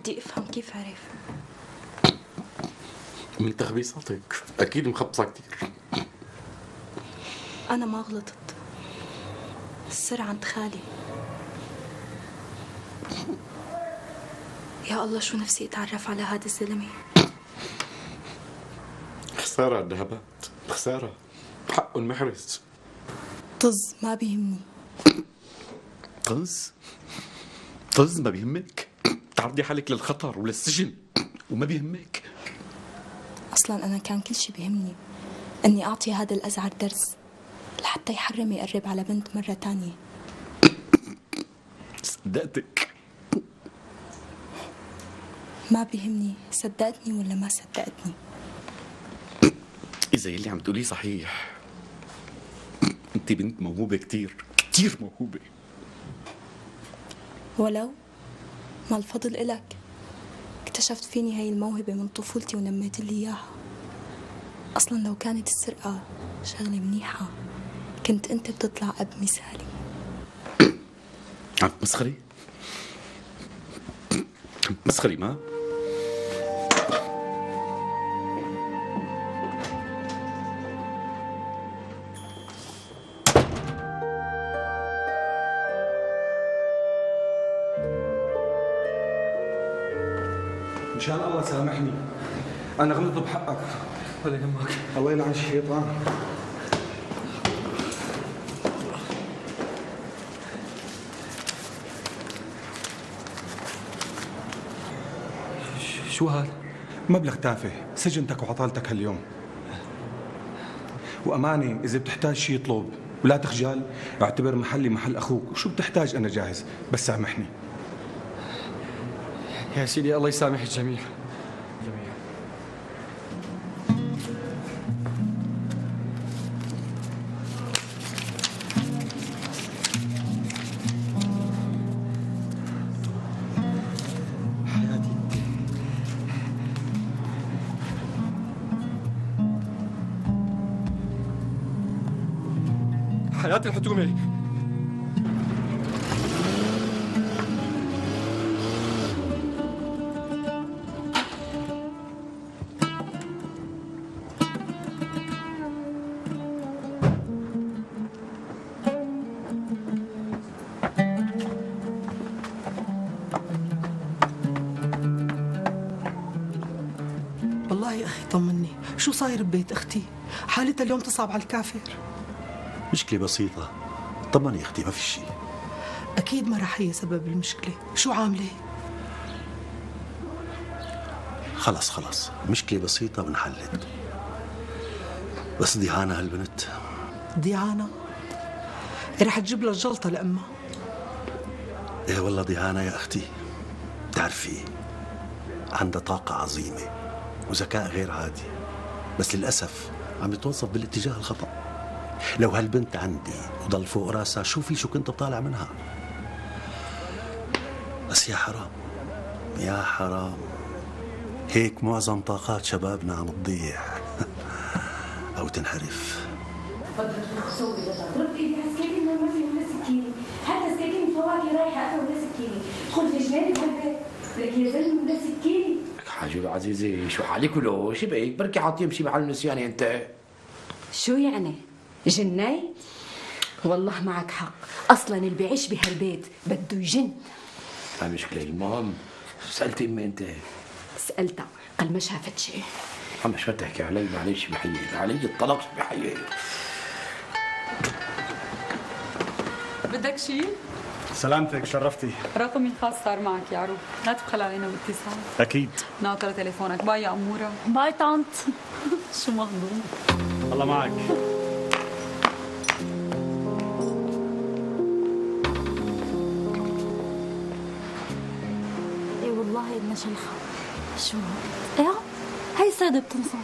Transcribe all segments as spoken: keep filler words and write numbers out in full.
بدي افهم كيف عرف. من تخبيصاتك اكيد مخبصه كثير. انا ما غلطت، السر عند خالي. يا الله شو نفسي اتعرف على هذا الزلمه. خساره الذهبات، خساره حقه المحرز. طز ما بيهمني. طز؟ طز ما بيهمك؟ تعرضي حالك للخطر وللسجن وما بيهمك؟ اصلا انا كان كل شي بيهمني اني اعطي هذا الازعر درس لحتى يحرم يقرب على بنت مره تانية. صدقتك. ما بيهمني صدقتني ولا ما صدقتني. اذا يلي عم تقوليه صحيح، انت بنت موهوبه كثير كثير موهوبه. ولو ما الفضل إلك، اكتشفت فيني هاي الموهبة من طفولتي ونميت لي إياها. أصلا لو كانت السرقة شغلة منيحة كنت أنت بتطلع أب مثالي. عم تمسخري؟ عم تمسخري ما؟ مشان الله سامحني، أنا غلطت بحقك. ولا يهمك. الله يلعن الشيطان. شو هذا؟ مبلغ تافه، سجنتك وعطالتك هاليوم. وأمانة إذا بتحتاج شي اطلب ولا تخجل، اعتبر محلي محل أخوك، وشو بتحتاج أنا جاهز، بس سامحني. يا سيدي الله يسامح الجميع. جميع. حياتي حياتي الحكومة. والله يا أخي طمني، شو صاير ببيت أختي؟ حالتها اليوم تصعب على الكافر. مشكلة بسيطة، طمني يا أختي ما في شيء. أكيد ما رح هي سبب المشكلة، شو عاملة؟ خلص خلص، مشكلة بسيطة وانحلت. بس ديهانا هالبنت. ديانا؟ رح تجيب لها الجلطة لأمها. إيه والله ديهانا يا أختي، بتعرفي عندها طاقة عظيمة وذكاء غير عادي، بس للأسف عم يتوظف بالاتجاه الخطأ. لو هالبنت عندي وضل فوق راسها شوفي شو كنت بطالع منها. بس يا حرام يا حرام، هيك معظم طاقات شبابنا عم تضيع أو تنحرف. ضرب ايدي عسكري ما في ولا سكينه، حتى سكاكين الفواكه رايحه انا ولا سكينه، خذ في جناني بهالبيت، لك يا زلمه ولا سكينه. حاجة العزيزة شو حالك ولو شو بك؟ بركي حاطين بشي محل نسيان انت. شو يعني؟ جنيت؟ والله معك حق، اصلا اللي بيعيش بهالبيت بده يجن. ما مشكلة، المهم سألتي امي انت؟ سألتها قال ما شافت شيء. عم شو تحكي علي؟ معلش بحيي علي الطلاق بحيي. بدك شيء؟ سلامتك شرفتي. رقمي الخاص صار معك يا عروب، لا تبخل علينا باتصال. أكيد. ناطرة تليفونك. باي يا أمورة. باي طنط. شو مهضوم. الله معك. ايه والله إنها شيخة. شو؟ ايه هاي صيدة بتنصب.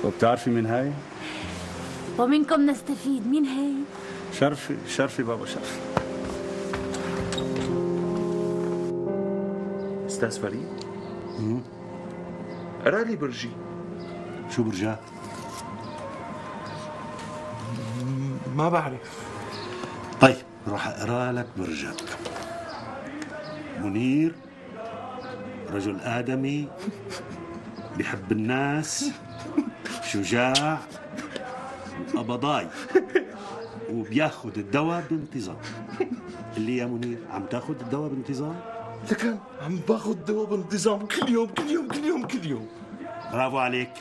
وبتعرفي مين هاي؟ ومنكم نستفيد، مين هاي؟ شرفي شرفي بابا شرفي. أستاذ فريد؟ امم قرا لي برجي. شو برجاه؟ ما بعرف. طيب روح اقرا لك برجك. منير رجل آدمي بيحب الناس، شجاع وقبضاي، وبياخد الدواء بانتظام. اللي يا منير عم تاخد الدواء بانتظام؟ لكن عم باخذ دواء بانتظام كل يوم كل يوم كل يوم كل يوم. برافو عليك،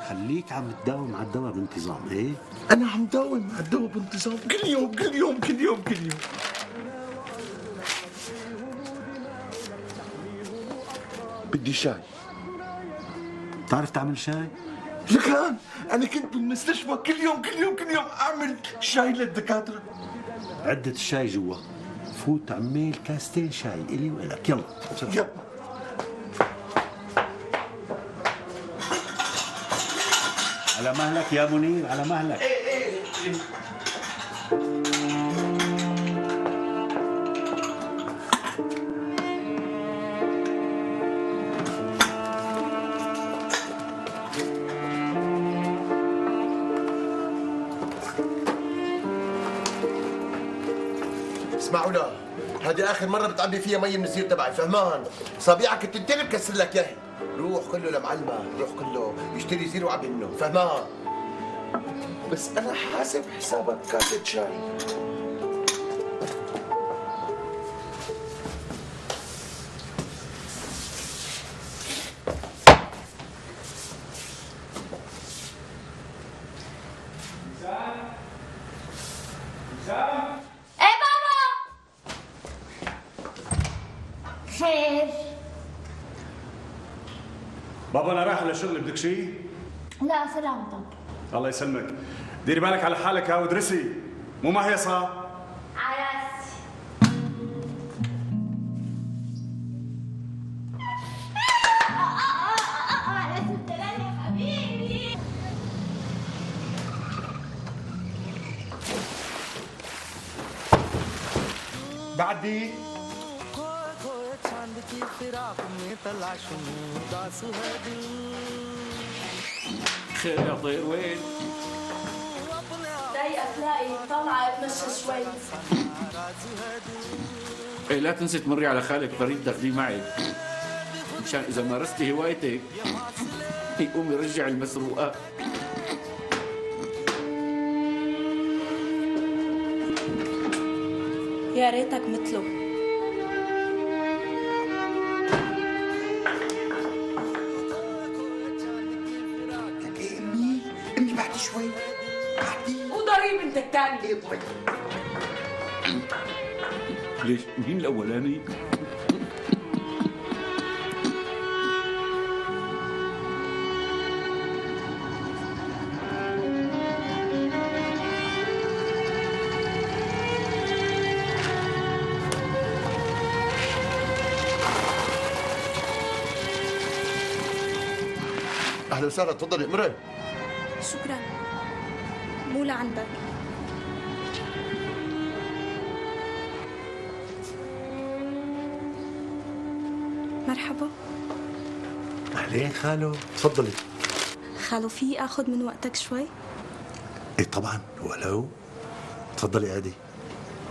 خليك عم تداوم على الدواء بانتظام. ايه انا عم داوم على الدواء بانتظام كل يوم كل يوم كل يوم كل يوم. بدي شاي. بتعرف تعمل شاي؟ لكان انا كنت بالمستشفى كل يوم كل يوم كل يوم اعمل شاي للدكاتره. عدة الشاي جوا، فوت عميل كاستين شاي الي والك. يلا يلا. على مهلك يا منير، على مهلك. ايه ايه ايه. اسمعوا لا، هذه آخر مرة بتعبي فيها مي من الزير تبعي، فهمان؟ صبيعك التنتين بكسر لك ياهي. روح كله لمعلمة، روح كله يشتري زير وعبي منه، فهمان؟ بس أنا حاسب حسابك كاسة شاي. خير؟ بابا انا رايح للشغل، بدك شيء؟ لا سلامتك. الله يسلمك. ديري بالك على حالك ها وادرسي، مو مهيصة. على راسي. بعدي خير يا طير وين؟ ضايقة تلاقي طالعة اتمشى شوي. ايه لا تنسي تمري على خالك فريد تاخذيه معك مشان اذا مارستي هوايتك يقوم يرجع المسروقات. يا ريتك مثله. امي امي بعد شوي بعدي. وضريب انت الثاني. ايه طيب. ليش مين الاولاني؟ أهلا وسهلا، تفضلي امرأة. شكرا. مو لعندك. مرحبا. أهلين خالو، تفضلي. خالو في اخذ من وقتك شوي؟ ايه طبعا، ولو. تفضلي عادي.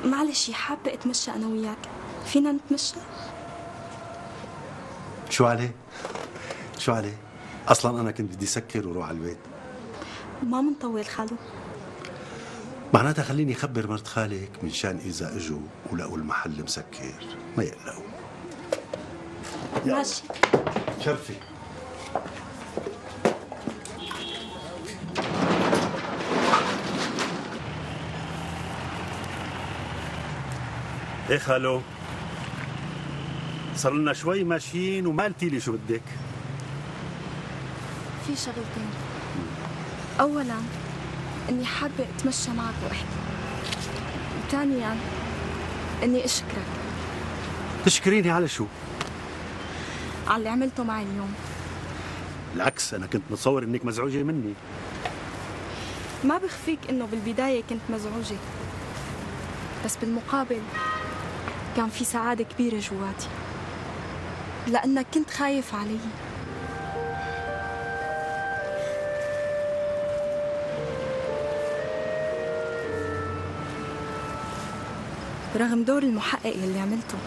معلش حابة اتمشى انا وياك، فينا نتمشى؟ شو عليه؟ شو عليه؟ اصلا انا كنت بدي سكر وروح على البيت. ما منطول خالو. معناتها خليني اخبر مرت خالك من شان اذا اجوا ولقوا المحل مسكر ما يقلقوا. ماشي. شرفي. ايه خالو، صار لنا شوي ماشيين وما قلتي لي شو بدك. في شغلتين. اولا اني حابة اتمشى معك واحكي، وثانيا اني اشكرك. تشكريني على شو؟ على اللي عملته معي اليوم. بالعكس، انا كنت متصور انك مزعوجه مني. ما بخفيك انه بالبداية كنت مزعوجة، بس بالمقابل كان في سعادة كبيرة جواتي لأنك كنت خايف علي. رغم دور المحقق اللي عملته،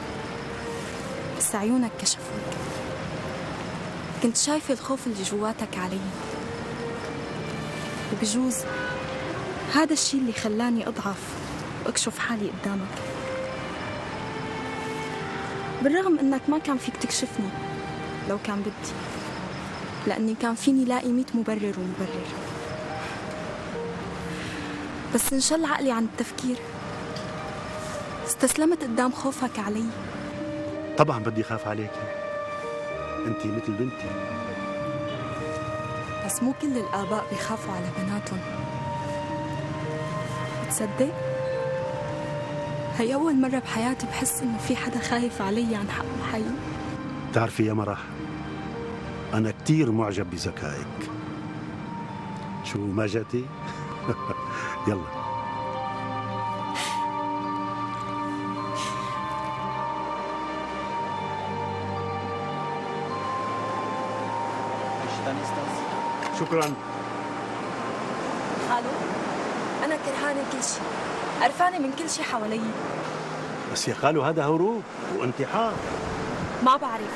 بس عيونك كشفوك. كنت شايفة الخوف اللي جواتك علي، وبجوز هذا الشيء اللي خلاني أضعف وأكشف حالي قدامك، بالرغم إنك ما كان فيك تكشفني لو كان بدي، لأني كان فيني لاقي ميت مبرر ومبرر، بس انشل عقلي عن التفكير، استسلمت قدام خوفك علي. طبعا بدي خاف عليك، انت مثل بنتي. بس مو كل الآباء بيخافوا على بناتهم. بتصدق؟ هي أول مرة بحياتي بحس إنه في حدا خايف علي عن حق حي. بتعرفي يا مرح، أنا كتير معجب بذكائك. شو ما جاتي؟ يلا. شكرا. خالو، أنا كرهانة كل شيء، قرفانة من كل شيء حوالي. بس يا خالو هذا هروب وانتحار. ما بعرف،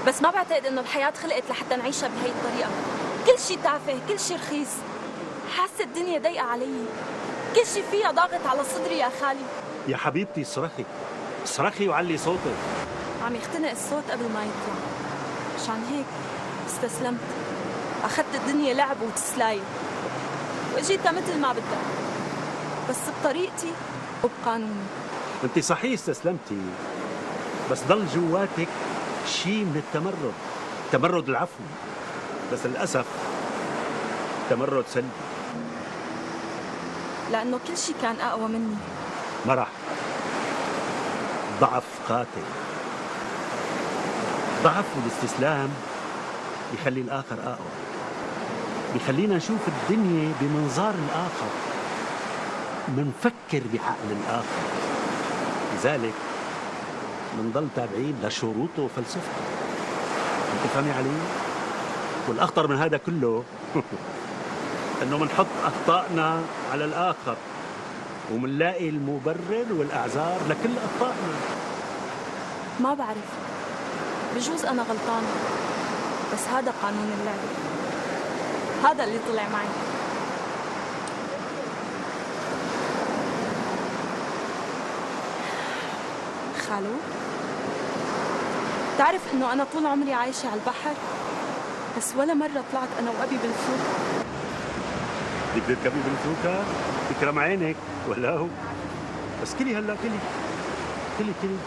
بس ما بعتقد إنه الحياة خلقت لحتى نعيشها بهي الطريقة. كل شيء تافه، كل شيء رخيص. حاسة الدنيا ضيقة علي، كل شيء فيها ضاغط على صدري يا خالي. يا حبيبتي اصرخي، اصرخي وعلي صوتك. عم يختنق الصوت قبل ما يطلع، مشان هيك استسلمت. أخذت الدنيا لعب وتسلاية وإجيتها مثل ما بدها، بس بطريقتي وبقانوني. انت صحيح استسلمتي، بس ضل جواتك شيء من التمرد، تمرد العفو، بس للأسف تمرد سلبي. لأنه كل شيء كان أقوى مني. مرح، ضعف قاتل. ضعف والاستسلام بيخلي الآخر أقوى، بيخلينا نشوف الدنيا بمنظار الآخر، منفكر بعقل الآخر، لذلك منضل تابعين لشروطه وفلسفته. انت فهمي علي؟ والأخطر من هذا كله انه منحط أخطائنا على الآخر ومنلاقي المبرر والأعذار لكل أخطائنا. ما بعرف، بجوز أنا غلطانة، بس هذا قانون اللعبة، هذا اللي طلع معي. خالو، تعرف إنه أنا طول عمري عايشة على البحر، بس ولا مرة طلعت أنا وأبي بالفلوكة. بدك تركبي بالفلوكة؟ تكرم عينك ولا هو؟ بس كلي هلا كلي كلي كلي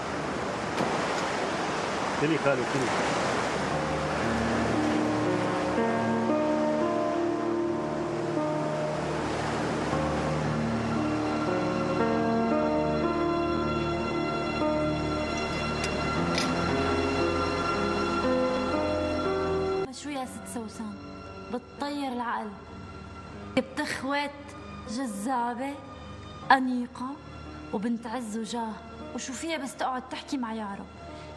كلي خالو كلي. شو يا ست سوسن؟ بتطير العقل، بتخوت جذابة أنيقة وبنت عز وجاه، وشو فيها بس تقعد تحكي مع يعرب.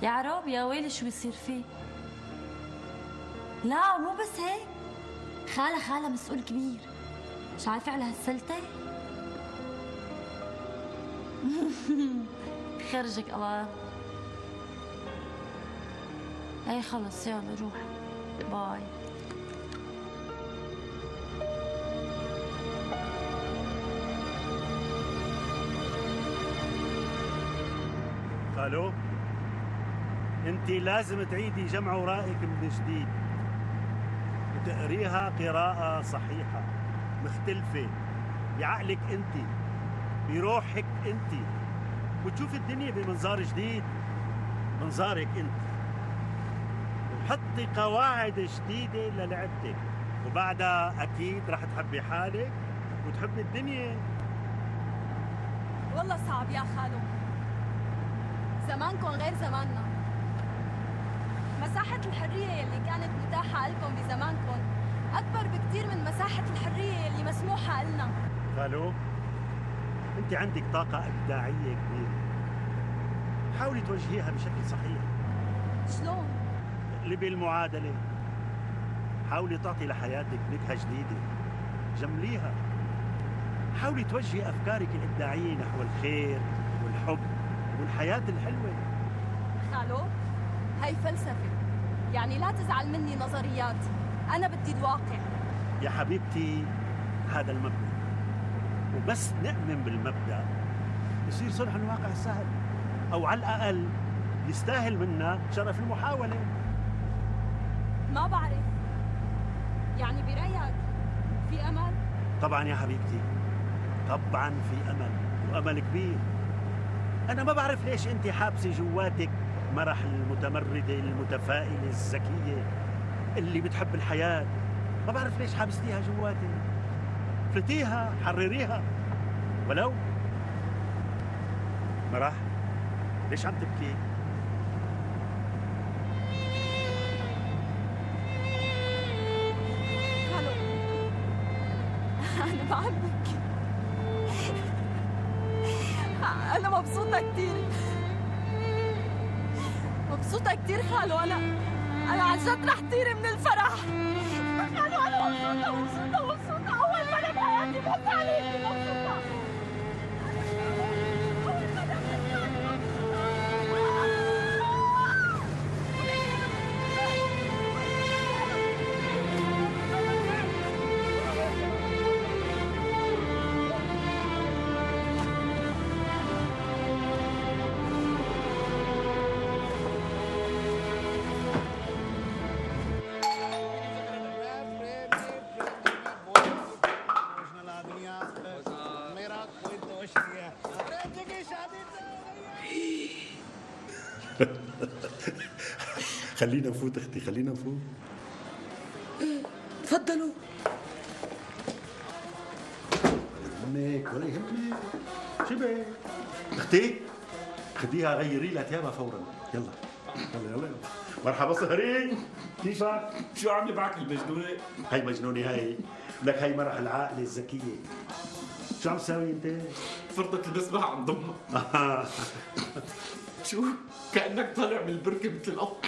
يعرب يا ويلي شو بيصير فيه. لا مو بس هيك، خالة خالة مسؤول كبير، مش عارفة على هالسلتة. خرجك الله. اي خلص يلا روح، باي. خالو، انت لازم تعيدي جمع ورائك من جديد وتقريها قراءة صحيحة مختلفة بعقلك انت، بروحك انت، وتشوفي الدنيا بمنظار جديد، منظارك انت، وحطي قواعد جديدة للعبتك، وبعدها اكيد رح تحبي حالك وتحبي الدنيا. والله صعب يا خالو، زمانكم غير زماننا. مساحة الحرية يلي كانت متاحة لكم بزمانكم أكبر بكتير من مساحة الحرية يلي مسموحة لنا. خالو، أنت عندك طاقة إبداعية كبيرة، حاولي توجهيها بشكل صحيح. شلون؟ اقلبي المعادلة، حاولي تعطي لحياتك نكهة جديدة، جمليها، حاولي توجهي أفكارك الإبداعية نحو الخير والحب والحياة الحلوة. خالو، هاي فلسفة يعني لا تزعل مني نظريات، أنا بدي الواقع. يا حبيبتي هذا المبدأ، وبس نؤمن بالمبدأ يصير صلح الواقع سهل، أو على الأقل يستاهل منا شرف المحاولة. ما بعرف، يعني برأيك في أمل؟ طبعا يا حبيبتي، طبعا في أمل، وأمل كبير. أنا ما بعرف ليش أنت حابسة جواتك مرح المتمردة المتفائلة الذكية اللي بتحب الحياة. ما بعرف ليش حابستيها جواتك. فلتيها، حرريها ولو. مرح ليش عم تبكي؟ خلو أنا ما عم ببكي، أنا مبسوطة كتير، مبسوطة كتير خالو. أنا أنا عن جد رح طير من الفرح. خالو أنا مبسوطة مبسوطة مبسوطة، أول مرة بحياتي بحس عليكي مبسوطة. خلينا نفوت اختي، خلينا نفوت. تفضلوا. ولا يهمك ولا يهمك. شبه اختي خديها غيري لها ثيابها فورا. يلا يلا يلا. مرحبا سهرين، كيفك؟ شو عامله معك المجنونه؟ هي مجنونه هي، لك هي مرح العاقله الذكيه. شو عم تساوي انت؟ فرضت المسبح عم ضمها. شو؟ كأنك طالع من البركة مثل القط.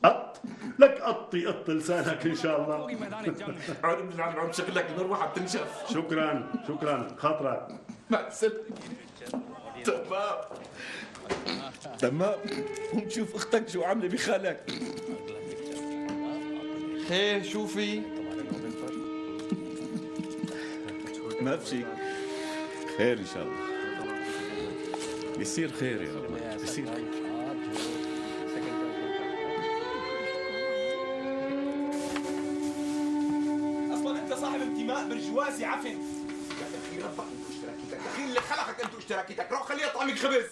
قط؟ لك قطي قط لسانك ان شاء الله. عود من العم عم شغلك المروحة بتنشف. شكرا شكرا خاطرك. مع السلامة. تمام تمام. قوم شوف اختك شو عاملة بخالك. خير شو في؟ ما في خير ان شاء الله. يصير خير يا رب، يصير خير. اصلا انت صاحب انتماء برجوازي عفن. يا اخي ربك انت اشتراكيتك، يا اخي اللي خلقك انت اشتراكيتك، روح خليها طعمك خبز.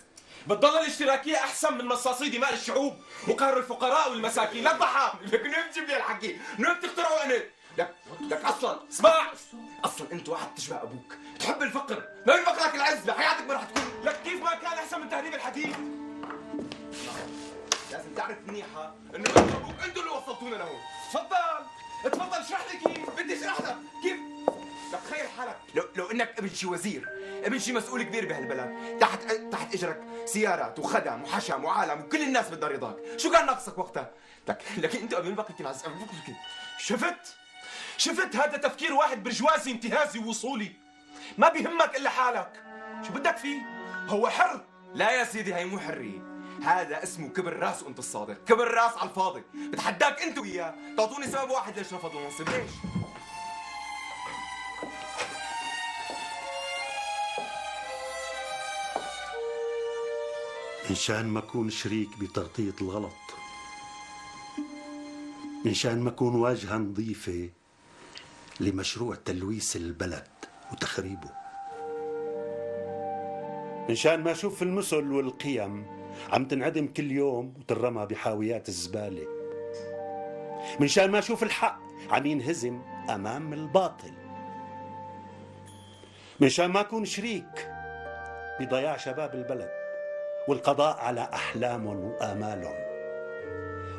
بتضل الاشتراكيه احسن من مصاصي دماء الشعوب وقهر الفقراء والمساكين. لا تضحى لك، منين بتجيب لي الحكي؟ منين بتخترعوا انت؟ لك لك اصلا اسمع، اصلا انت واحد تشبه ابوك، تحب الفقر، ما يفقرك العز، لحياتك ما رح تكون. لك كيف ما كان احسن من تهريب الحديد؟ لازم تعرف منيحه انه انت وابوك انتوا اللي وصلتونا لهون. تفضل تفضل اشرح لي كيف، بدي اشرح لك كيف. لك تخيل حالك لو لو انك ابن شي وزير، ابن شي مسؤول كبير بهالبلد، تحت تحت اجرك سيارات وخدم وحشم وعالم وكل الناس بدها رضاك، شو كان ناقصك وقتها؟ لك لكن انت قبل الوقت كنت عزيز. شفت؟ شفت هذا تفكير واحد برجوازي انتهازي ووصولي، ما بيهمك الا حالك. شو بدك فيه؟ هو حر. لا يا سيدي هي مو حريه، هذا اسمه كبر راس وانت الصادق، كبر راس على الفاضي. بتحداك انت وياه تعطوني سبب واحد ليش رفض المنصب. ليش؟ إنشان ما أكون شريك بتغطية الغلط، إنشان ما أكون واجهة نظيفة لمشروع تلويث البلد وتخريبه، إنشان ما أشوف المثل والقيم عم تنعدم كل يوم وترمى بحاويات الزبالة، منشان ما أشوف الحق عم ينهزم أمام الباطل، منشان ما أكون شريك بضياع شباب البلد والقضاء على أحلامهم وآمالهم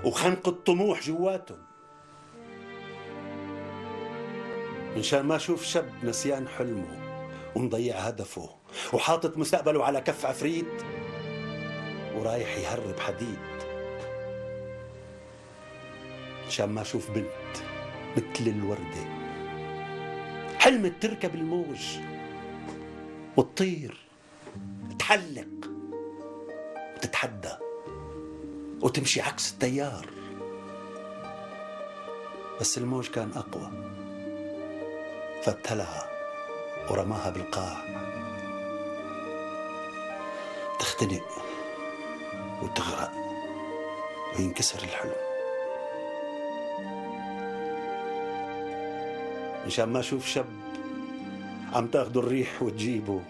وخنق الطموح جواتهم، منشان ما أشوف شاب نسيان حلمه ومضيع هدفه وحاطط مستقبله على كف عفريت ورايح يهرب حديد، منشان ما أشوف بنت مثل الوردة حلمت تركب الموج وتطير تحلق وتتحدى وتمشي عكس التيار بس الموج كان أقوى، فتلها ورماها بالقاع تختنق وتغرق وينكسر الحلم. مشان ما أشوف شاب عم تاخده الريح وتجيبه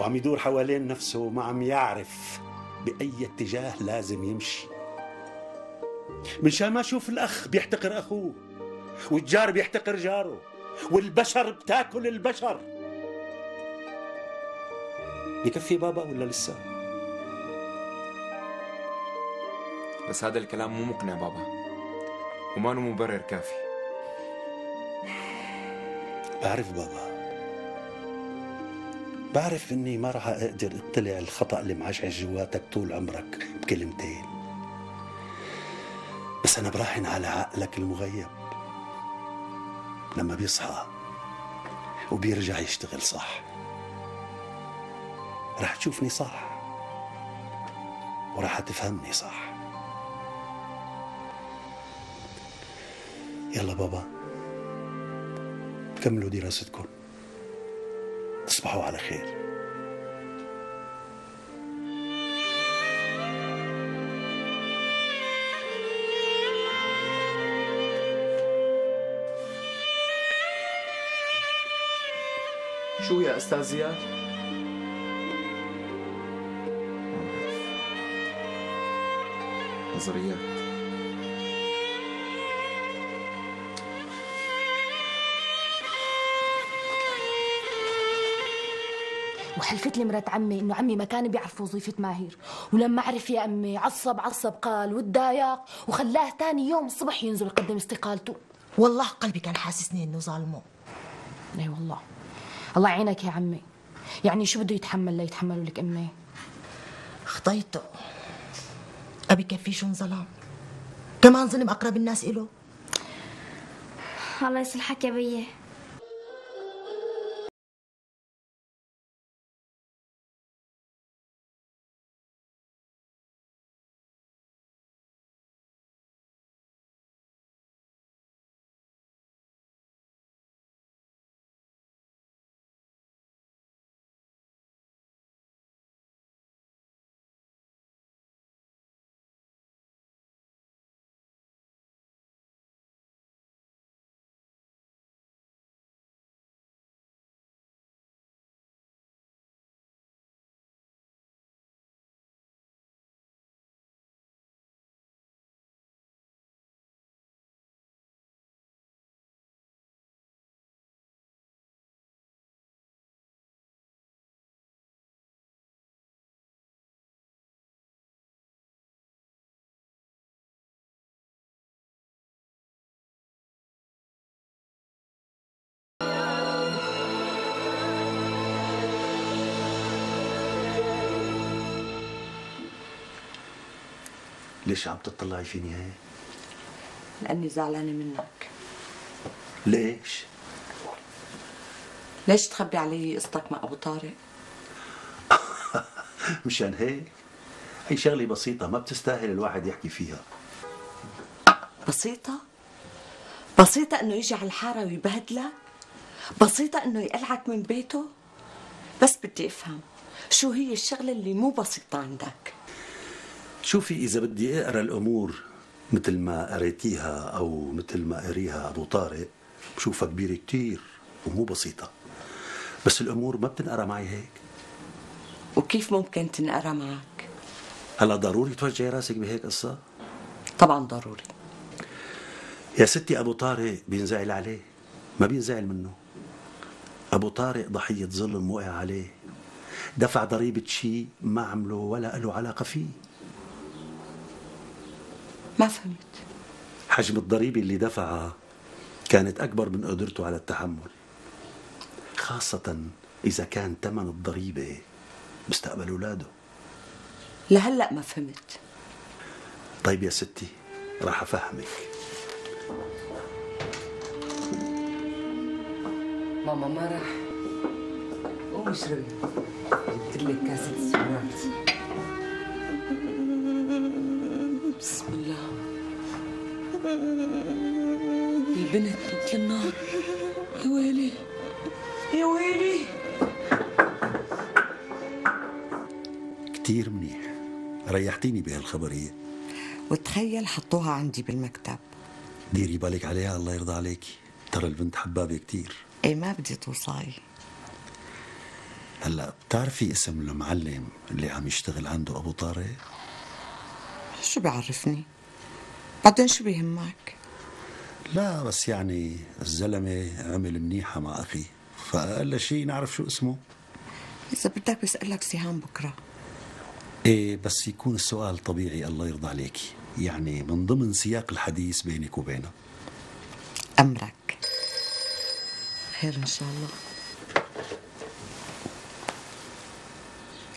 وعم يدور حوالين نفسه وما عم يعرف بأي اتجاه لازم يمشي. منشان ما أشوف الأخ بيحتقر أخوه والجار بيحتقر جاره والبشر بتاكل البشر. بكفي بابا ولا لسه؟ بس هذا الكلام مو مقنع بابا، وما له مبرر كافي. بعرف بابا، بعرف اني ما راح اقدر اطلع الخطأ اللي معشعش جواتك طول عمرك بكلمتين، بس انا براهن على عقلك المغيب لما بيصحى وبيرجع يشتغل صح راح تشوفني صح وراح تفهمني صح. يلا بابا كملوا دراستكم، تصبحوا على خير. شو يا أستاذ زياد؟ نظريات. وحلفت لي مرات عمي انه عمي ما كان بيعرف وظيفة ماهر، ولما عرف يا امي عصب عصب قال وتضايق وخلاه ثاني يوم الصبح ينزل يقدم استقالته. والله قلبي كان حاسسني انه ظالمه. اي والله. الله يعينك يا عمي، يعني شو بده يتحمل ليتحملوا لك امي؟ خطيته ابي كفي شو انظلم، كمان ظلم اقرب الناس إله. الله يصلحك يا بيه. ليش عم تطلعي فيني هيك؟ لأني زعلانة منك. ليش؟ ليش تخبي علي قصتك مع أبو طارق؟ مشان هيك؟ هي شغلة بسيطة ما بتستاهل الواحد يحكي فيها. بسيطة؟ بسيطة إنه يجي على الحارة ويبهدلك؟ بسيطة إنه يقلعك من بيته؟ بس بدي أفهم شو هي الشغلة اللي مو بسيطة عندك؟ شوفي إذا بدي أقرأ الأمور مثل ما قريتيها أو مثل ما قريها أبو طارق بشوفها كبيرة كتير ومو بسيطة، بس الأمور ما بتنقرأ معي هيك. وكيف ممكن تنقرأ معك؟ هلا ضروري توجعي راسك بهيك قصة؟ طبعا ضروري. يا ستي أبو طارق بينزعل عليه، ما بينزعل منه. أبو طارق ضحية ظلم وقع عليه، دفع ضريبة شيء ما عمله ولا له علاقة فيه. ما فهمت. حجم الضريبة اللي دفعها كانت أكبر من قدرته على التحمل، خاصة إذا كان ثمن الضريبة مستقبل أولاده. لهلأ ما فهمت. طيب يا ستي راح أفهمك. ماما ما راح. قومي اشربي، جبت لك كاسة سكرات. بسم الله. البنت مثل النار. يا ويلي يا ويلي. كتير منيح، ريحتيني بهالخبرية. وتخيل حطوها عندي بالمكتب. ديري بالك عليها الله يرضى عليكي، ترى البنت حبابة كتير. ايه ما بدي توصاي. هلا بتعرفي اسم المعلم اللي عم يشتغل عنده ابو طارق؟ شو بيعرفني؟ بعدين شو بيهمك؟ لا بس يعني الزلمة عمل منيحة مع أخي، فأقل شيء نعرف شو اسمه. إذا بدك بسألك سهام بكرة. إيه بس يكون السؤال طبيعي الله يرضى عليكي، يعني من ضمن سياق الحديث بينك وبينه. أمرك. خير إن شاء الله.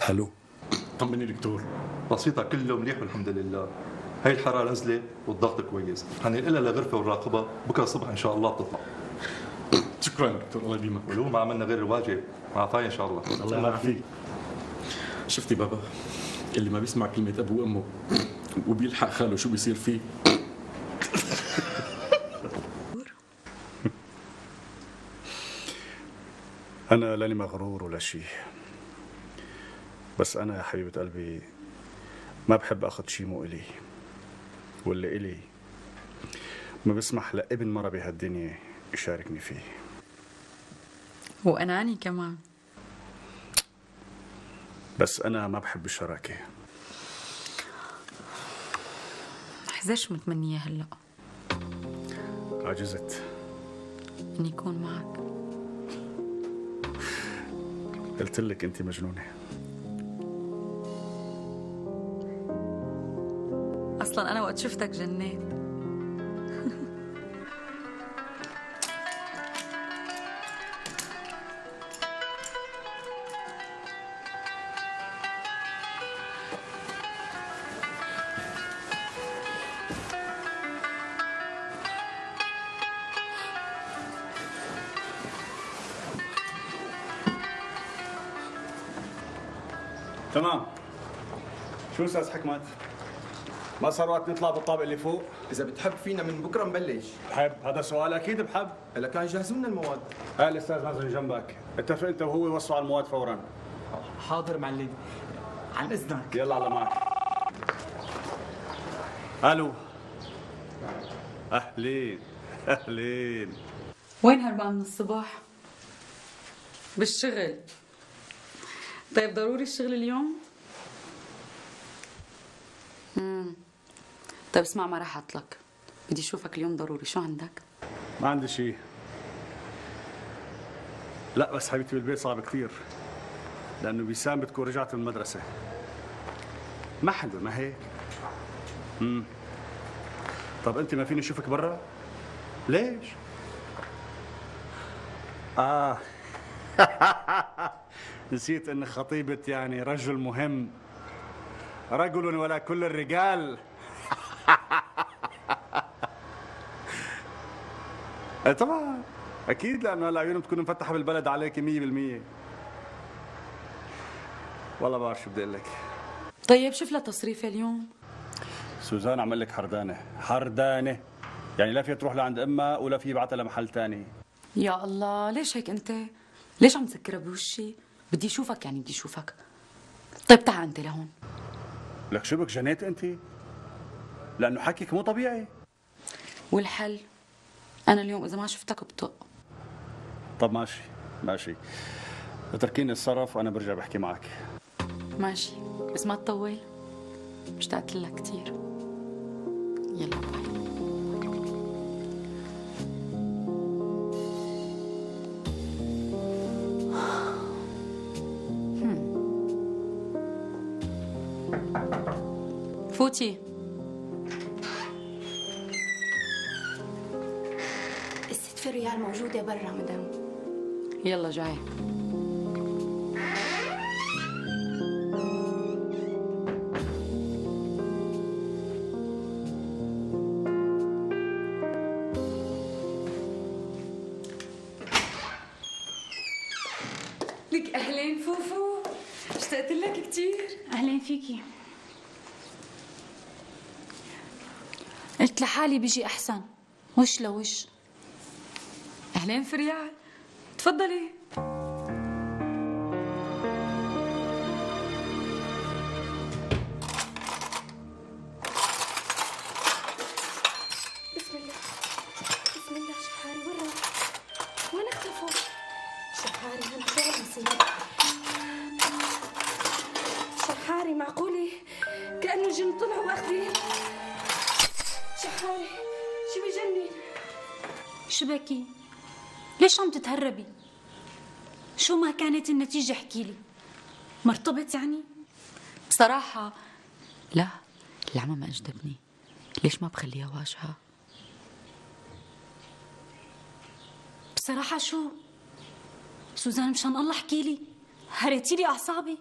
الو. طمني دكتور. بسيطة كله مليح والحمد لله. هاي الحرارة نزلت والضغط كويس، حننقلها لغرفة والراقبة بكره الصبح إن شاء الله بتطلع. شكرا دكتور الله يديمك. ولو ما عملنا غير الواجب مع عافية إن شاء الله. الله يعافيك. شفتي بابا اللي ما بيسمع كلمة أبوه وأمه وبيلحق خاله شو بيصير فيه؟ أنا لاني مغرور ولا شيء، بس أنا يا حبيبة قلبي ما بحب أخذ شيء مو إلي، واللي إلي ما بسمح لابن مرة بهالدنيا يشاركني فيه. وأناني كمان. بس أنا ما بحب الشراكة. حزاش متمنية هلأ؟ عجزت إني أكون معك. قلت لك أنت مجنونة. أصلا أنا وقت شفتك جنيت. تمام. شو استاذ حكمت؟ ما صار وقت نطلع بالطابق اللي فوق؟ اذا بتحب فينا من بكره نبلش. بحب، هذا سؤال اكيد بحب. هلا كان جاهزوا لنا المواد. هاي الاستاذ نازل جنبك، اتفق انت وهو يوصلوا على المواد فورا. حاضر معلم، عن اذنك. يلا على معك. الو. اهلين اهلين. وين هربان من الصبح؟ بالشغل. طيب ضروري الشغل اليوم؟ امم طيب اسمع ما راح اطلق، بدي اشوفك اليوم ضروري. شو عندك؟ ما عندي شيء. لا بس حبيبتي بالبيت صعب كثير، لانه بيسام بتكون رجعت من المدرسه. ما حدا ما هيك. امم طب انت ما فيني اشوفك برا؟ ليش؟ اه نسيت ان خطيبة يعني رجل مهم، رجل ولا كل الرجال. طبعا اكيد، لانه هلا عيونهم بتكون مفتحه بالبلد عليك مية بالمية. والله ما بعرف شو بدي اقول لك. طيب شوف لها تصريفه اليوم. سوزان عمل لك حردانه حردانه، يعني لا فيها تروح لعند امها ولا في يبعتها لمحل ثاني. يا الله ليش هيك انت؟ ليش عم تسكرها بوشي؟ بدي اشوفك يعني بدي اشوفك. طيب تعال انت لهون. لك شو بك جنيت انت؟ لانه حكيك مو طبيعي. والحل؟ انا اليوم اذا ما شفتك بطق. طب ماشي ماشي، اتركيني الصرف وانا برجع بحكي معك. ماشي بس ما تطول، اشتقت لك كثير. يلا باي. فوتي. الست فريال موجودة برا مدام. يلا جاي. لك أهلين فوفو، اشتقت لك كثير. أهلين فيكي. قلت لحالي بيجي أحسن وش لوش. أهلين فريال، تفضلي. بسم الله بسم الله. شحاري وين راح؟ وين اختفوا؟ شحاري هلا شو نصير؟ شحاري معقولة كأنه جن طلعوا واخذين؟ شحاري شو بجنن؟ شو بكي؟ ليش عم تتهربي؟ شو ما كانت النتيجة احكيلي. مرتبط يعني؟ بصراحة لا، العمى ما أجدبني. ليش ما بخليها واجهة؟ بصراحة شو؟ سوزان مشان الله احكيلي، هريتيلي أعصابي.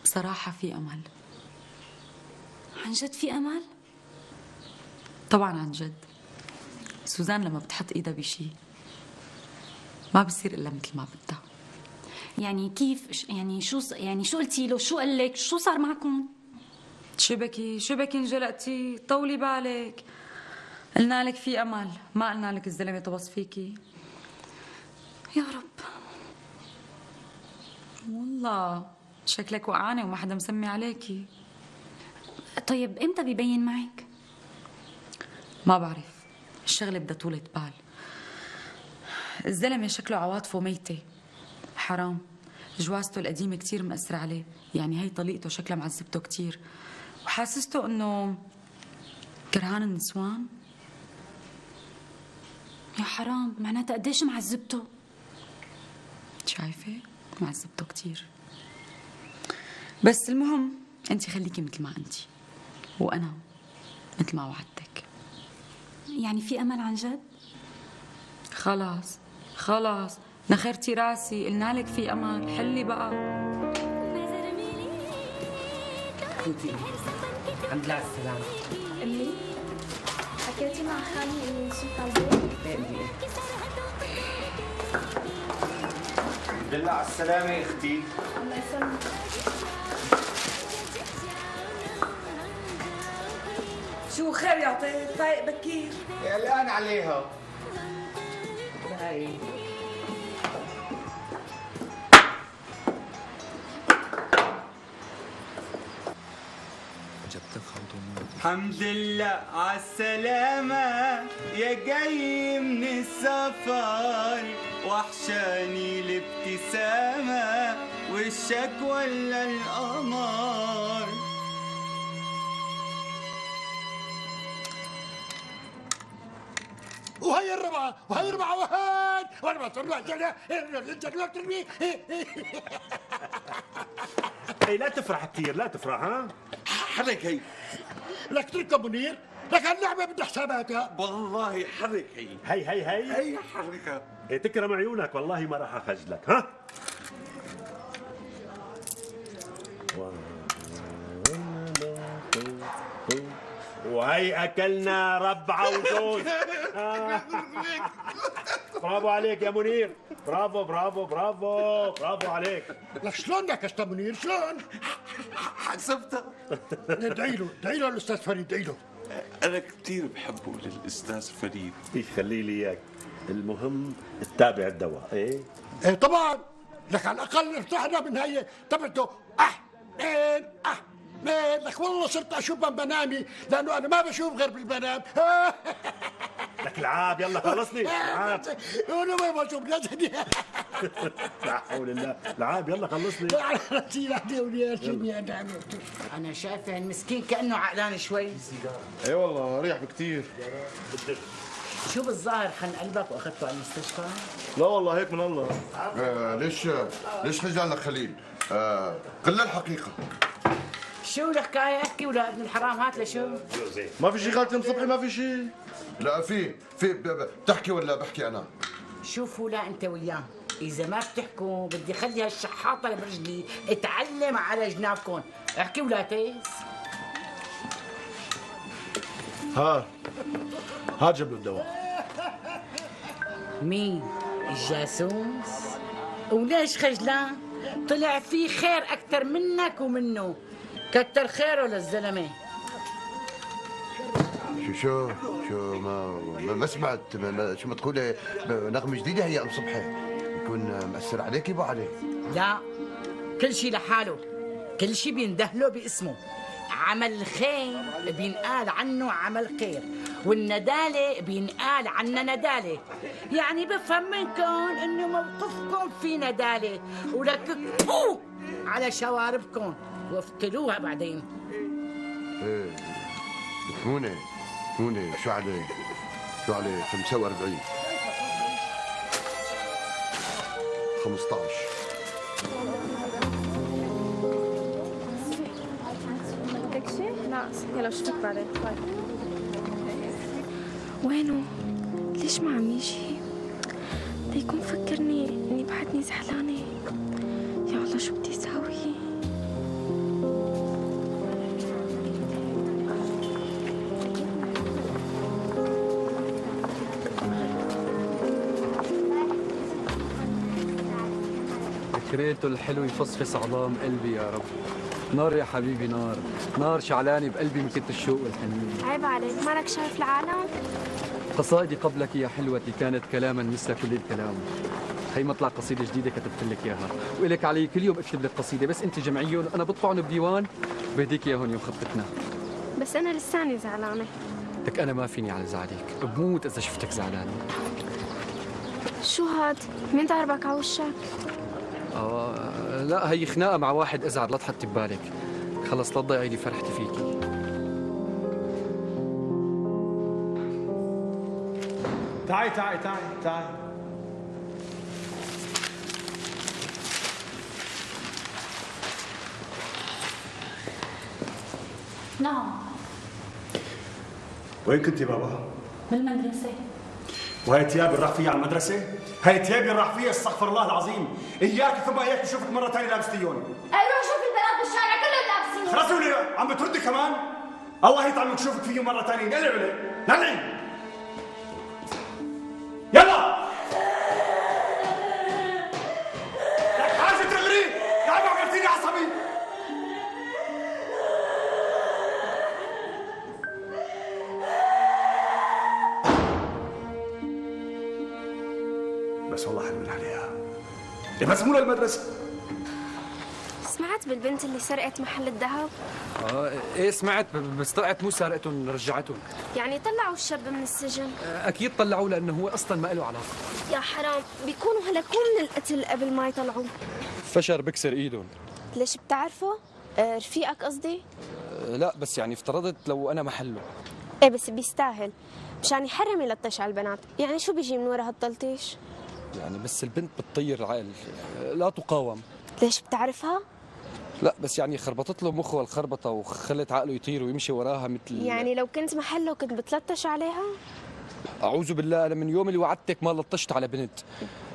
بصراحة في أمل. عن جد في أمل؟ طبعا عن جد. سوزان لما بتحط ايدها بشي ما بصير الا مثل ما بدها. يعني كيف؟ يعني شو يعني شو قلتي له؟ شو قال لك؟ شو صار معكم؟ شبكي شبكي انجلقتي، طولي بالك. قلنا لك في امل، ما قلنا لك الزلمه طبص فيكي. يا رب. والله شكلك وقعانه وما حدا مسمي عليكي. طيب امتى بيبين معك؟ ما بعرف، الشغله بدها طولة بال. الزلمه شكله عواطفه ميته، حرام. جوازته القديمه كتير مأثرة عليه، يعني هي طليقته شكلها معذبته كتير، وحاسسته انه كرهان النسوان. يا حرام، معناتها قديش معذبته؟ شايفه؟ معذبته كتير. بس المهم انت خليكي مثل ما انت، وانا مثل ما وعدتك. يعني في امل عن جد؟ خلاص خلاص نخرتي راسي، قلنا لك في امل، حلي بقى. انتي الحمد لله على السلامة. امي حكيتي مع خالي اني وصلت على البيت؟ ايه امي ايه. الحمد لله على السلامة يا اختي. الله يسلمك. شو خير يا طيب؟ فايق بكير؟ قلقان عليها. هاي الحمد لله على السلامة يا جاي من السفر، وحشاني الابتسامة وشك ولا القمر. وهي الربعة وهي الربعة وهي وانا ما طلعت ترمي. هي لا تفرح كثير، لا تفرح. ها حرك هي. لك تركب منير، لك هاللعبة بدها حساباتها. والله حرك هي. هي هي هي هي حركها. هي تكرم عيونك، والله ما راح اخجلك. ها وهي اكلنا ربعه وجوز. آه. برافو عليك يا منير، برافو برافو برافو برافو عليك. لك شلون نكشت منير؟ شلون؟ حسبتها. ادعي له ادعي له الاستاذ فريد، ادعي له. انا كثير بحبه للاستاذ فريد. يخلي لي اياك، المهم تتابع الدواء. ايه ايه طبعا، لك على الاقل ارتحنا من هي تبعته. اه اثنين اه اثنين. لك والله صرت اشوف بمنامي، لانه انا ما بشوف غير بالمنام. لك العاب، يلا خلصني العاب. انا ما بشوف نزلي. لا حول الله، العاب يلا خلصني. انا شايفه المسكين كانه عقلان شوي. اي والله ريح بكثير. شو بالظاهر خن قلبك واخذته على المستشفى؟ لا والله هيك من الله. آه ليش ليش خجلك خليل؟ آه قل الحقيقة. شو الحكاية؟ احكي ولا ابن الحرام هات لشو؟ ما في شيء خالتي صبحي، ما في شيء. لا في في بتحكي ولا بحكي أنا؟ شوفوا لا أنت وياه، إذا ما بتحكوا بدي خلي هالشحاطة اللي برجلي اتعلم على جنابكم، احكي ولا تيس. ها هات جيب له الدواء. مين؟ الجاسوس؟ وليش خجلان؟ طلع في خير أكثر منك ومنه، كتر خيره للزلمة. شو شو شو ما ما, ما سمعت ما ما شو ما تقولي نغمة جديدة هي ام صبحي يكون مأثر عليك ابو علي؟ لا كل شيء لحاله، كل شيء بيندهله باسمه. عمل الخير بينقال عنه عمل خير، والندالة بينقال عنها ندالة. يعني بفهم منكم انه موقفكم في ندالة ولك بو على شواربكم وافتلوها بعدين. ايه ثمونة ثمونة شو عليه؟ شو عليه؟ خمسة وأربعين خمسة عشر. بدك شيء؟ لا يلا بشوفك بعدين. باي. وينه؟ ليش ما عم يجي؟ بده يكون فكرني اني بعدني زعلانة. يا الله شو بدي اساوي؟ ذكرياته الحلو يفصفص عظام قلبي يا رب. نار يا حبيبي نار، نار شعلانة بقلبي من كتر الشوق والحنين. عيب عليك، مالك شايف العالم؟ قصائدي قبلك يا حلوتي كانت كلاما مثل كل الكلام. هي مطلع قصيدة جديدة كتبت لك اياها، وإلك علي كل يوم اكتب لك قصيدة، بس انت جمعيهم وانا بطبعهم بديوان بهديك اياهم يوم خطتنا. بس انا لساني زعلانة. لك انا ما فيني على زعلك، بموت اذا شفتك زعلانة. شو هاد؟ مين ضربك على وشك؟ آه لا هي خناقة مع واحد ازعر، لا تحطي ببالك. خلص لا تضيعي لي فرحتي فيكي. تعي تعي تعي تعي. نعم. وين كنتي بابا؟ بالمدرسة. وهي تيابي راح فيها على المدرسة؟ هي تيابي راح فيها استغفر الله العظيم، إياك ثم إياك بشوفك مرة ثانية لابستيون. أروح شوف البنات بالشارع كلهم لابسين. خلاص ولي عم بتردي كمان؟ الله يطعمك شوفك فيهم مرة ثانية، نقلع ولي، نقلعي. يلا! لك حاجة تغري، يا عم عملتيني عصبي. بس والله حلوين عليها. بس مو للمدرسة. سمعت بالبنت اللي سرقت محل الذهب؟ اه ايه سمعت، بس طلعت مو سارقتهم رجعتهم. يعني طلعوا الشاب من السجن؟ اكيد طلعوه لانه هو اصلا ما له علاقه. يا حرام، بيكونوا هلكوا من القتل قبل ما يطلعوه. فشر بكسر ايدهم. ليش بتعرفه؟ آه رفيقك قصدي؟ آه لا بس يعني افترضت لو انا محله. ايه بس بيستاهل، مشان يحرم يلطش على البنات. يعني شو بيجي من ورا هالتلطيش؟ يعني بس البنت بتطير العقل، لا تقاوم. ليش بتعرفها؟ لا بس يعني خربطت له مخه الخربطه وخلت عقله يطير ويمشي وراها مثل. يعني لو كنت محله كنت بتلطش عليها؟ اعوذ بالله، انا من يوم اللي وعدتك ما لطشت على بنت.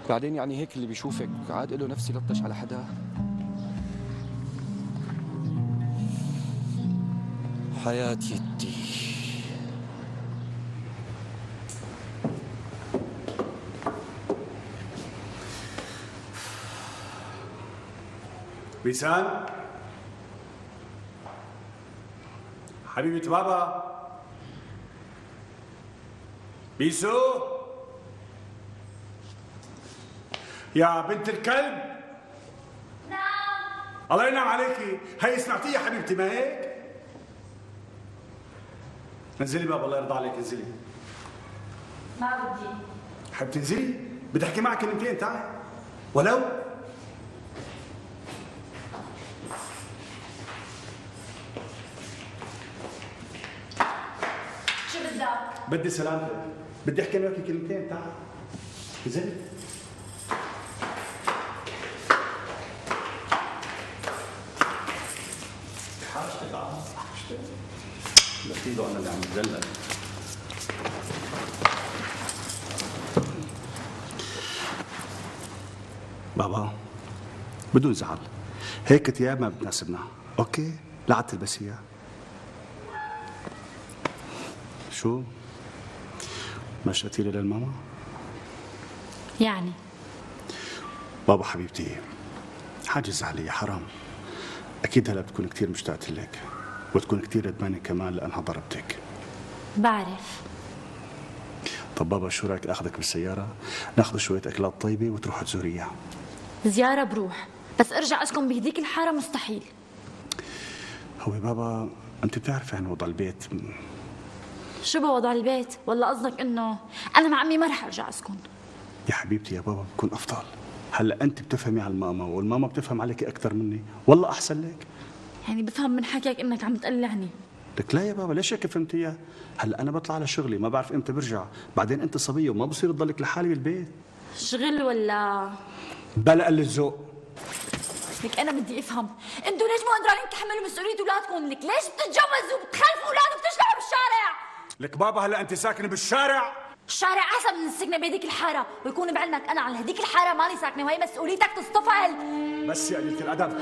بعدين يعني هيك اللي بيشوفك عاد له نفسي لطش على حدا. حياتي يدي. بيسان حبيبة بابا بيسو يا بنت الكلب. نعم. الله ينعم عليكي، هي سمعتي يا حبيبتي ما هيك؟ انزلي بابا الله يرضى عليك، انزلي. ما بدي. حبيبتي انزلي، بدي احكي معك كلمتين تعي ولو. شو بدك؟ بدي سلامتك، بدي احكي معك كلمتين تعال. انزلي. حاجتك عم حاجتك. لقيته انا اللي عم بتدلل. بابا بدون زعل، هيك ثياب ما بتناسبنا، اوكي؟ لا عاد تلبسيها. شو؟ ما اشتقتي لي للماما؟ يعني بابا حبيبتي حاجز علي حرام. اكيد هلا بتكون كثير مشتاقة لك وتكون كثير ندمانة كمان لانها ضربتك. بعرف. طب بابا شو رايك اخذك بالسياره ناخذ شويه اكلات طيبه وتروح تزوريها؟ زيارة بروح، بس ارجع اسكن بهديك الحارة مستحيل. هو بابا انت بتعرفي عن وضع البيت. شو بوضع البيت؟ ولا قصدك انه انا مع عمي ما رح ارجع اسكن؟ يا حبيبتي يا بابا بكون افضل. هلا انت بتفهمي على الماما والماما بتفهم عليك اكثر مني، والله احسن لك. يعني بفهم من حكيك انك عم تقلعني. لك لا يا بابا ليش هيك فهمتيها؟ هلا انا بطلع على شغلي ما بعرف امتى برجع، بعدين انت صبيه وما بصير تضلك لحالي بالبيت. شغل ولا بلا قل الذوق. لك انا بدي افهم، انتوا ليش مو قادرين تحملوا مسؤوليه اولادكم؟ لك ليش بتتجوزوا وبتخلفوا اولاد وبتشتغلوا بالشارع؟ لك بابا هلا انت ساكنه بالشارع؟ الشارع احسن من السكنه بهديك الحاره، ويكون بعلمك انا على هديك الحاره ماني ساكنه وهي مسؤوليتك تصطفل. بس يا قليله الادب.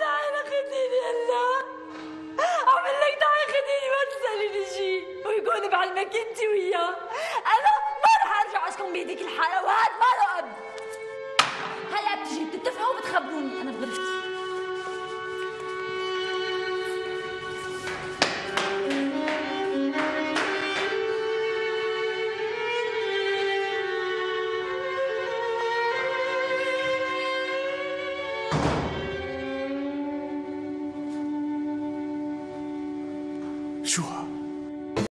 تعالي خديني هلا، اعمل لك تعالي خديني ما تساليني شيء، ويكون بعلمك انت وياه انا ما رح ارجع اسكن بهديك الحاره، وهذا ما له اب. هلا بتجي بتتفقوا وبتخبروني انا بغرفتي.